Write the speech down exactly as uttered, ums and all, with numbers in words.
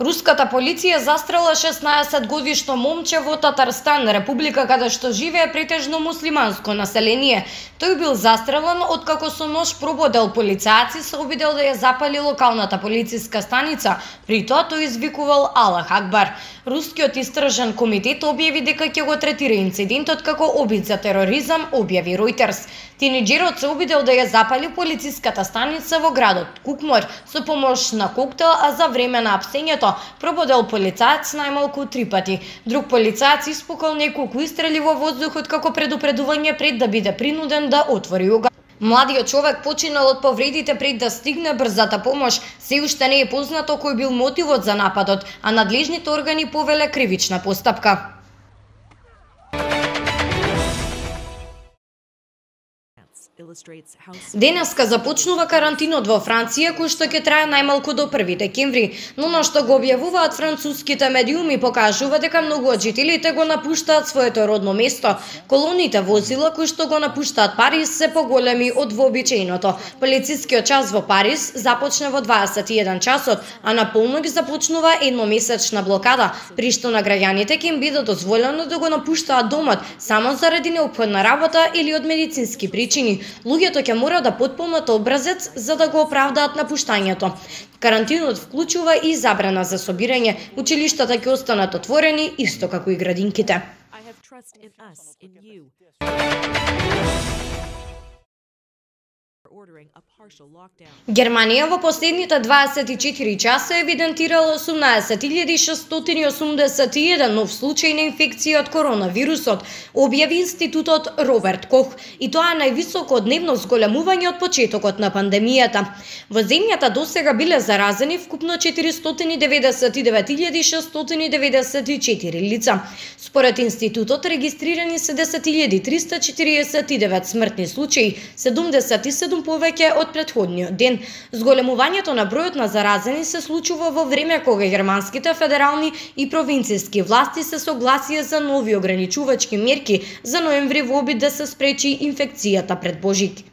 Руската полиција застрела шеснаесет годишно момче во Татарстан, република каде што живее претежно муслиманско население. Тој бил застрелен откако со нож прободел полицајци се обидел да ја запали локалната полициска станица, при тоа тој извикувал Аллах Акбар. Рускиот истражен комитет објави дека ќе го третира инцидентот како обид за тероризам, објави Reuters. Тинеџерот се обидел да ја запали полициската станица во градот Кукмор со помош на коктел, а за време на апсењето прободел полицаец најмалку три пати. Друг полицаец испукал неколку истрели во воздухот како предупредување пред да биде принуден да отвори оган. Младиот човек починал од повредите пред да стигне брзата помош. Се уште не е познато кој бил мотивот за нападот, а надлежните органи повеле кривична постапка. Денеска започнува карантинот во Франција, кој што ќе трае најмалку до први декември, но на што го објавуваат француските медиуми покажува дека многу од жителите го напуштаат своето родно место. Колоните возила кои што го напуштаат Париз се поголеми од вообичаеното. Полицискиот час во Париз започна во дваесет и еден часот, а на полнок започнува едномесечна блокада, при што на граѓаните ќе им биде дозволено да го напуштаат домот само заради неопходна работа или од медицински причини. Луѓето ќе мора да потполнат образец за да го оправдаат напуштањето. Карантинот вклучува и забрана за собирање. Училиштата ќе останат отворени исто како и градинките. Германија во последните дваесет и четири часа евидентирала осумнаесет илјади шестстотини и осумдесет и еден нов случај на инфекција од коронавирусот, објави Институтот Роберт Кох, и тоа е највисоко дневно зголемување од почетокот на пандемијата. Во земјата досега биле заразени вкупно четиристотини деветдесет и девет илјади шестстотини деветдесет и четири лица. Според институтот регистрирани се десет илјади триста четириесет и девет смртни случаи, седумдесет и седум повеќе од претходниот ден. Зголемувањето на бројот на заразени се случува во време кога германските федерални и провинцијски власти се согласија за нови ограничувачки мерки за ноември во обид да се спречи инфекцијата пред Божик.